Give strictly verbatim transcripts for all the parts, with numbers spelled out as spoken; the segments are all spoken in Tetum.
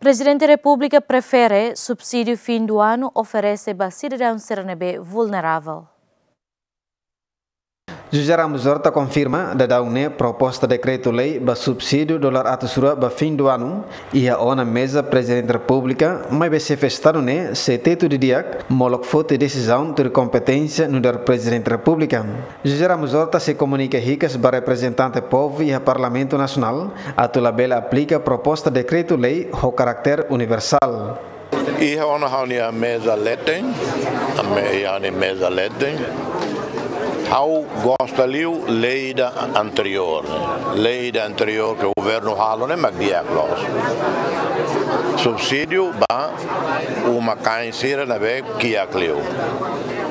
Prezidente Repúblika prefere subsídiu fin du anu oferese ba sidadaun sira ne'ebé vulneravel. José Ramos Horta konfirma dadaun ne'e proposta dekretu-lei ba subsídiu dolar atus rua ba fin du anu iha ona meza Prezidente Repúblika, maibé Xefe Estadu ne'e sei tetu didi'ak molok foti desizaun tuir kompeténsia nu'udar Prezidente Repúblika. José Ramos Horta sei komunika hikas ba reprezentante povu iha Parlamentu Nasionál atu labele aplika proposta dekretu-lei ho karáter universál. Iha ona ha'u-nia meza leten, ami iha ona meza leten. Ha'u gosta liu lei ida anteriór, ne'e. Lei ida anteriór ke governu halo ne'e mak di'ak loos. Subsídiu ba uma-kain sira ne'ebé kiak liu.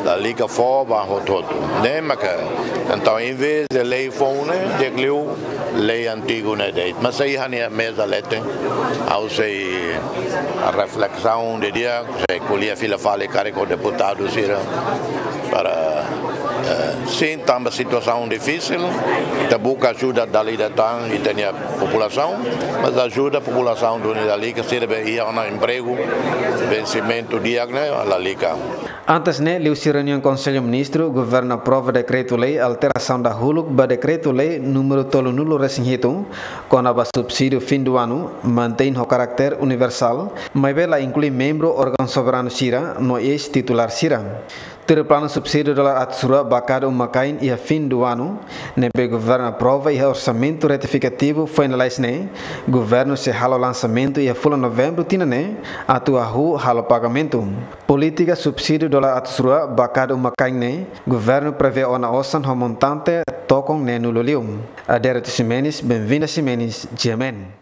Lalika fó ba hotu-hotu. Ne'e maka, entaun, em vez de lei foun ne'e, di'ak liu lei antigu ne'e de'it. Mas sei iha ha'u-nia meza leten, ha'u sei reflesaun didi'ak, sei ko'alia fila fali karik ho deputadu sira para, eh, sin, tanba situasaun difisil, ita buka ajuda dala ida tan ita-nia populasaun, mas ajuda populasaun duni lalika, sira ne'ebé iha ona empregu, vensimentu di'ak ne'e lalika. Antes ne'e, liuhusi reuniaun Konsellu Ministru, governu aprova dekretu-lei alterasaun dahuluk ba dekretu-lei númeru tolunulu resin hitu, kona-ba subsídiu fin du anu, mantein ho karáter universál, maibé la inklui membru órgaun soberanu sira no eis-titulár sira. Tuir planu subsídiu dolar atus rua ba kada uma-kain iha fin du anu, ne'ebé governu aprova iha orsamentu retifikativu foin lalais ne'e, governu sei halo lansamentu iha fulan Novembru tinan ne'e, atu hahú halo pagamentu. Polítika subsídiu dolar atus rua ba kada uma-kain ne'e, governu prevee ona osan ho montante tokon neenulu liu. Adérito Ximenes, Benvinda Ximenes, G M N.